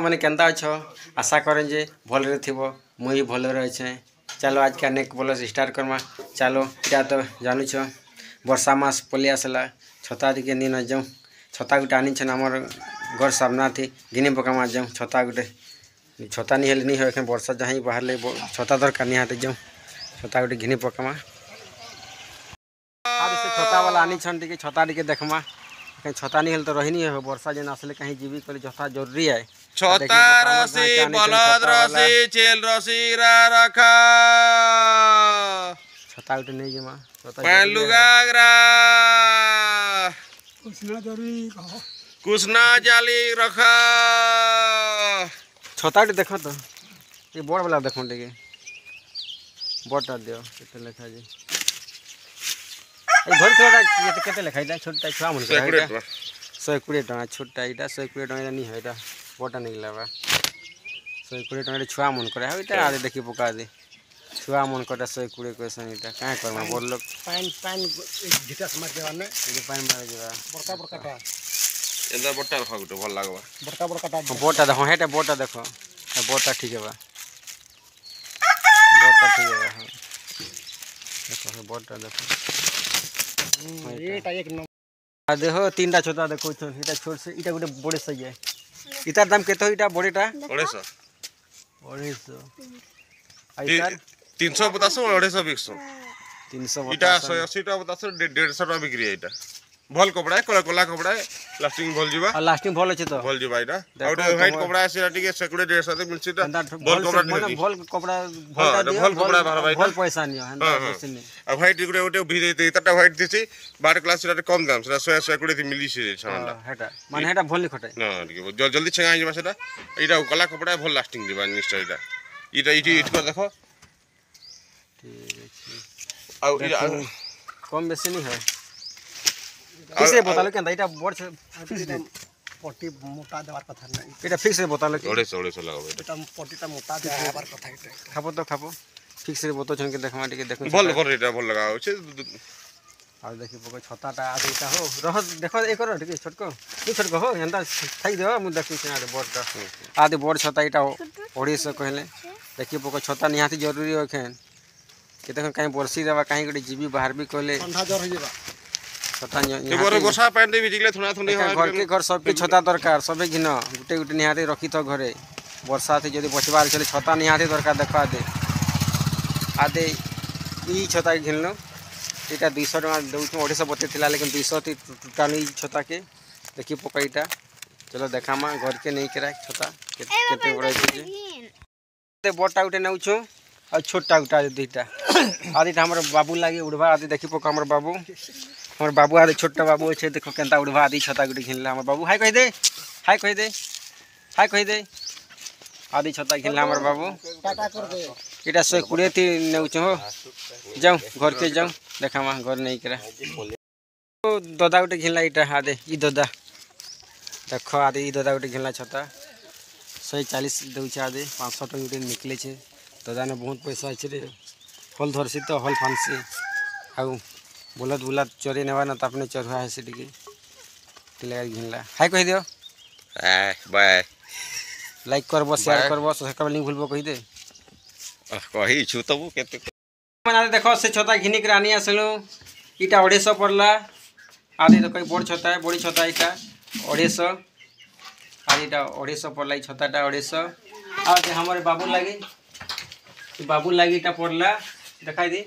ମାନେ କେନ୍ତା ଅଛ? ଆଶା କରେଁ ଯେ ଭଲରେ ଥିବ। ମୁଇଁ ବି ଭଲରେ ଅଛେଁ। ଚାଲ, ଆଜକା ନେକ୍ସଟ ବ୍ଲଗ ଷ୍ଟାର୍ଟ କର୍ମା। ଚାଲ, ଇଟା ତ ଜାନୁଛ, ବର୍ଷା ମାସ ପଲେଇ ଆସିଲା। ଛତା ଟିକେ ନେଇ ନ ଯାଉଁ। ଛତା ଗୁଟେ ଆନିଛନ୍ ଆମର ଘର ସାମ୍ନାଥି, ଘିନି ପକାମା ଯାଉଁ ଛତା ଗୁଟେ। ଛତା ନି ହେଲେ ନି ହୁଏ। ଏଖେନ୍ ବର୍ଷା ଯାହିଁ ବାହାରିଲେ ଛତା ଦରକାର ନିହାତି। ଯାଉଁ, ଛତା ଗୁଟେ ଘିନି ପକାମା। ଆର୍ ସେ ଛତା ବାଲା ଆନିଛନ୍, ଟିକେ ଛତା ଟିକେ ଦେଖମା। କାଇଁ ଛତା ନି ହେଲେ ତ ରହିନି ହେବ। ବର୍ଷା ଯେନ୍ ଆସିଲେ କାହିଁ ଯିବି କହିଲେ ଛତା ଜରୁରୀ ଆଏ। ଛତା ରସି, ବଲଦ ରସି, ଛେଲ ରସି ରଖ। ଛତା ଗୋଟେ ନେଇଯିମା, ଛତା। ଲୁଗା କୁସନା ଜାଲି ରଖ। ଛତା ଟିକେ ଦେଖ ତ, ଟିକେ ବଡ଼ ବାଲା ଦେଖୁନ୍, ଟିକେ ବଡ଼ଟା ଦିଅ। କେତେ ଲେଖା ଯେ ଏଇ ଧରିଥିବାଟା? କେତେ କେତେ ଲେଖା ଏଇଟା? ଛୋଟଟା ଛୁଆ ମାନଙ୍କର 120 ଟଙ୍କା। ଛୋଟଟା ଏଇଟା 120 ଟଙ୍କା। ଏଇଟା ନି ଏଇଟା ବଡ଼ଟା ନେଇଗଲା ବା। 120 ଟଙ୍କା ଛୁଆ ମାନଙ୍କର। ଆଉ ଏଇଟା ଆରେ ଦେଖି ପକା ଦେ, ଛୁଆ ମାନଙ୍କରଟା 120 କହିସନ୍। ଏଇଟା କାଁ କର୍ମା ବଡ଼ ଲୋକ? ପାନ୍ ପାନ୍ ଝିଟା ମାରି ଦେବା ନେ। ଏଇଟା ପାନ୍ ମାରି ଦେବା। ବଡ଼କା ବଡ଼କାଟା। ଏନ୍ତା ବଡ଼ଟା ରଖ ଗୋଟେ, ଭଲ ଲାଗବା। ବଡ଼କା ବଡ଼କାଟା। ହଁ, ବଡ଼ଟା ଦେଖ। ହେଟା ବଡ଼ଟା ଦେଖ, ବଡ଼ଟା ଠିକ୍ ହେବା। ବଡ଼ଟା ଠିକ୍ ହେବା। ହଁ, ଦେଖ, ବଡ଼ଟା ଦେଖ। ଏଇଟା ଏକ ନମ୍ବର। ଦେଖ, ତିନିଟା ଛତା ଦେଖଉଛନ୍। ଏଇଟା ଛୋଟ ସେ, ଏଇଟା ଗୋଟେ ବଡ଼ ସାଇଜ୍। ଇତାର ଦାମ କେତେ? ଏଇଟା ବଡ଼ଟା? 250। 250। ଆଉ ଇତାର? 350, 250 ବିକସୁଁ। 300। ଏଇଟା 180 ଟଙ୍କା ବତାସ, 150 ଟଙ୍କା ବିକ୍ରି। ଏଇଟା ଭଲ କପଡ଼ା, କଲା କପଡ଼ା, ଲାଷ୍ଟିଂ ଭଲ ଯିବା। ଆଉ ଲାଷ୍ଟିଂ ଭଲ ଅଛି ତ? ଭଲ ଯିବା ଏଇଟା। ଆଉ ଗୋଟେ ହ୍ୱାଇଟ୍ କପଡ଼ା ସେଟା ଟିକେ 120, 150 ମିଳୁଛି। ଏଇଟା ଭଲ କପଡ଼ା। ମାନେ ଭଲ କପଡ଼ା। ଭଲ କପଡ଼ା ବାହାରବା। ଭଲ ପଇସା ନିଅ, ହେନ୍ତା ବେଶୀ ନି। ଆଉ ହ୍ୱାଇଟ୍ ଗୋଟେ ଗୋଟେ ଭି ତାରଟା ହ୍ୱାଇଟ୍ ଦେଇଛି 12 କ୍ଲାସ୍, ସେଟା କମ୍ ଦାମ, ସେଟା 100, 120 ମିଳିଛି ସାମାନଟା। ହେଟା ମାନେ ହେଟା ଭଲ ଖଟେ। ନା, ଟିକେ ଜଲ୍ଦି ଛେଙ୍ଗା ହେଇଯିବା ସେଟା। ଏଇଟା କଲା କପଡ଼ା, ଭଲ ଲାଷ୍ଟିଂ ଯିବା ଜିନିଷଟା ଏଇଟା। ଏଇଟା ଏଇଠି ଏଇଠି ଦେଖ। ଠିକ୍ ଅଛି। ଆଉ କମ୍ ବେଶୀ ନି ହୁଏ? ଫିକ୍ସ ରେଟ୍ ବତାलो କେନ୍ତା? ଏଇଟା ବଡ଼ ଫିକ୍ସ ରେଟ୍। ପଟି ମୋଟା ଦେବାର କଥା ନାଇଁ। ଏଇଟା ଫିକ୍ସ ରେଟ୍ ବତାलो କି? 250, 250 ଲାଗବ ଏଇଟା। ଏଟା ପଟିଟା ମୋଟା ଦେବାର କଥା ଏଇଟା। ଖାପ ତ ଖାପ, ଫିକ୍ସ ରେଟ୍ ବତାଉଛନ୍ କି ଦେଖମା ଟିକେ, ଦେଖୁন। ଭଲ ଭଲ, ଏଇଟା ଭଲ ଲଗା ଅଛି। ଆଉ ଦେଖି ପକ ଛତାଟା ଆଦି। ଏଇଟା ହୋ, ରହ, ଦେଖ, ଏ କର ଟିକେ। ଛୋଟକ ନି, ଛୋଟକ ହୋ, ଏନ୍ତା ଥାଇ ଦିଅ, ମୁଁ ଦେଖୁଛି। ଆଡ଼େ ବଡ଼ଟା ଆଦି, ବଡ଼ ଛତା ଏଇଟା 250 କହିଲେ। ଦେଖି ପକ, ଛତା ନିହାତି ଜରୁରୀ ଅଖେନ୍। କେତେ କାହିଁ ବର୍ଷି ଦେବା, କାହିଁ ଗୋଟେ ଯିବି ବାହାରବି କହିଲେ। ଥଣ୍ଡା ଜ୍ୱର ହେଇଯିବା। ଛତା। ବର୍ଷା ପାଣି ଭିଜିଗଲେ ଥଣ୍ଡା ଥଣ୍ଡି। ଘରକେ ଘର ସବକେ ଛତା ଦରକାର। ସବେ ଘିନ, ଗୋଟେ ଗୋଟେ ନିହାତି ରଖିଥ ଘରେ। ବର୍ଷା ଯଦି ବଚବାର ଅଛି ଛତା ନିହାତି ଦରକାର। ଦେଖ, ଆଦେ ଆଦେ ଇ ଛତା ଘିନଲୁ। ଏଇଟା 200 ଟଙ୍କା ଦେଉଛୁ। 250 ବତେଇ ଥିଲା, ଲେକିନ୍ 200 ଟୋଟାଲ ଇ ଛତାକେ। ଦେଖି ପକା ଏଇଟା। ଚलो, ଦେଖାମା ଘରକେ ନେଇକିରା ଛତା କେତେ ବଡ଼ ହେଇଛି। ବଡ଼ଟା ଗୋଟେ ନେଉଛୁ ଆଉ ଛୋଟଟା ଗୋଟେ ଦୁଇଟା। ଆଉ ଦୁଇଟା ଆମର ବାବୁ ଲାଗି ଉଡ଼ବା। ଆଦି ଦେଖି ପକା, ଆମର ବାବୁ, ଆମର ବାବୁ ଆଦି, ଛୋଟଟା ବାବୁ ଅଛେ। ଦେଖ କେନ୍ତା ଉଡ଼ବା। ଆଦି ଛତା ଗୋଟେ ଘିନଲା ଆମର ବାବୁ। ହାଇ କହିଦେ, ହାଇ କହିଦେ, ହାଇ କହିଦେ। ଆଦି ଛତା ଘିନଲା ଆମର ବାବୁ। ଏଇଟା 120 ତି ନେଉଛୁ ହୋ। ଯାଉଁ, ଘରକେ ଯାଉଁ, ଦେଖାମା ଘର ନେଇକିରା। ଦଦା ଗୋଟେ ଘିନଲା ଏଇଟା। ଆଦେ ଇ ଦଦା ଦେଖ, ଆଦେ ଇ ଦଦା ଗୋଟେ ଘିନଲା ଛତା। 140 ଦେଉଛେ ଆଦେ, 500 ଟଙ୍କା ଗୋଟେ ନିକଲିଛେ। ଦଦାନେ ବହୁତ ପଇସା ଅଛି ରେ। ହଲ୍ ଧରସି ତ ହଲ୍ ଫାନ୍ସି ଆଉ ବୁଲତ ବୁଲାତ ଚରେଇ ନେବା ନା, ତାପରେ ଚରୁଆ ହେସି ଟିକେ ଘିନଲା। ହାଇ କହିଦିଅ। ବାଏ। ଲାଇକ୍ କରବ, ସେୟାର କରବ, ସବସ୍କ୍ରାଇବ୍ ନି ଭୁଲବ, କହିଦେ। କହିଛୁ ତ ମୁଁ କେତେ। ମାନେ ଦେଖ, ସେ ଛତା ଘିନିକରି ଆନି ଆସିଲୁ। ଇଟା 250 ପଡ଼ଲା। ଆଦି ଦେଖ, ବଡ଼ ଛତା, ବଡ଼ି ଛତା ଏଇଟା 250। ଆଉ ଏଇଟା 250 ପଡ଼ଲା, ଏଇ ଛତାଟା 250। ଆଉ ଆମର ବାବୁ ଲାଗି, ବାବୁ ଲାଗି ଏଇଟା ପଡ଼ଲା, ଦେଖାଇ ଦି।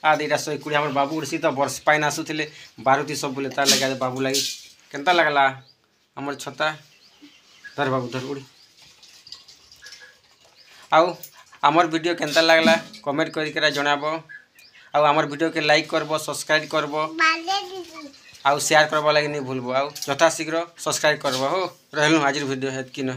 ଆଦି ଏଇଟା 120। ଆମର ବାବୁ ଉଡ଼ସି ତ ବର୍ଷ ପାଇନ୍ ଆସୁଥିଲେ ବାରୁତି ସବୁବେଳେ, ତାର ଲାଗି ବାବୁ ଲାଗି। କେନ୍ତା ଲାଗଲା ଆମର ଛତା? ଧର ବାବୁ, ଧର ଉଡ଼ି। ଆଉ ଆମର ଭିଡ଼ିଓ କେନ୍ତା ଲାଗଲା କମେଣ୍ଟ କରିକିରା ଜଣାବ। ଆଉ ଆମର ଭିଡ଼ିଓକେ ଲାଇକ୍ କରବ, ସବସ୍କ୍ରାଇବ୍ କରବ ଆଉ ସେୟାର କରବା ଲାଗି ନି ଭୁଲବ। ଆଉ ଯଥାଶୀଘ୍ର ସବସ୍କ୍ରାଇବ୍ କରବ ହୋ। ରହିଲୁ, ଆଜିର ଭିଡ଼ିଓ ହେତ୍କି ନ।